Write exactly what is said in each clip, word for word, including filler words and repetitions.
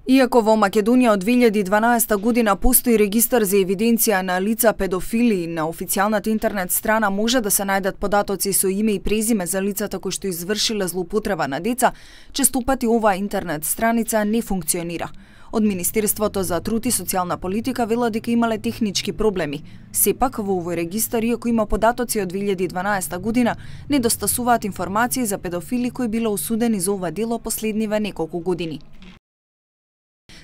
Иако во Македонија од две илјади и дванаесета година постои регистар за евиденција на лица педофили, на официјалната интернет страна може да се најдат податоци со име и презиме за лицата кои што извршиле злоупотреба на деца, често пати оваа интернет страница не функционира. Од Министерството за труд и социјална политика велат дека имале технички проблеми. Сепак во овој регистар, иако има податоци од две илјади и дванаесета година, недостасуваат информации за педофили кои биле осудени за ова дело последниве неколку години.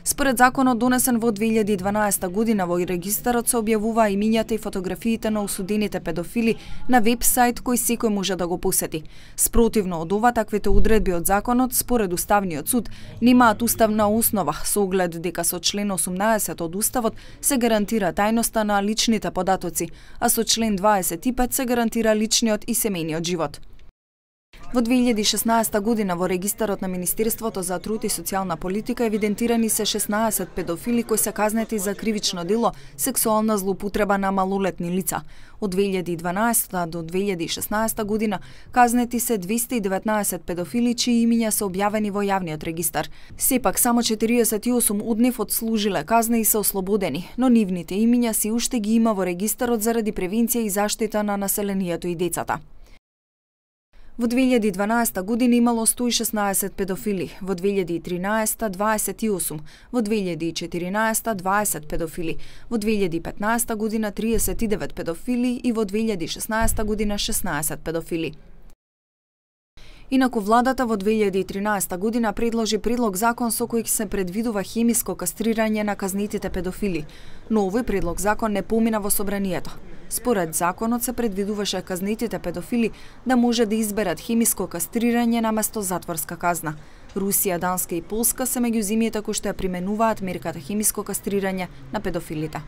Според законот донесен во две илјади и дванаесета година, во регистарот се објавуваа имињата и фотографиите на осудените педофили на веб-сајт кој секој може да го посети. Спротивно од ова, таквите одредби од законот, според Уставниот суд, немаат уставна основа, со оглед дека со член осумнаесет од Уставот се гарантира тајноста на личните податоци, а со член дваесет и пет се гарантира личниот и семејниот живот. Во две илјади и шеснаесета година во регистарот на Министерството за труд и социјална политика евидентирани се шеснаесет педофили кои се казнети за кривично дело сексуална злоупотреба на малолетни лица. Од две илјади и дванаесета до две илјади и шеснаесета година казнети се двесте и деветнаесет педофили чии имиња се објавени во јавниот регистар. Сепак само четириесет и осум од нив одслужиле казна и се ослободени, но нивните имиња се уште ги има во регистарот заради превенција и заштита на населението и децата. Во две илјади и дванаесета година имало сто и шеснаесет педофили, во две илјади и тринаесета дваесет и осум, во две илјади и четиринаесета дваесет педофили, во две илјади и петнаесета година триесет и девет педофили и во две илјади и шеснаесета година шеснаесет педофили. Инаку владата во две илјади и тринаесета година предложи предлог закон со кој се предвидува хемиско кастрирање на казнетите педофили, но овој предлог закон не помина во собранието. Според законот се предвидуваше казнетите педофили да може да изберат хемиско кастрирање наместо затворска казна. Русија, Данска и Полска се меѓу земјите кои што ја применуваат мерката хемиско кастрирање на педофилите.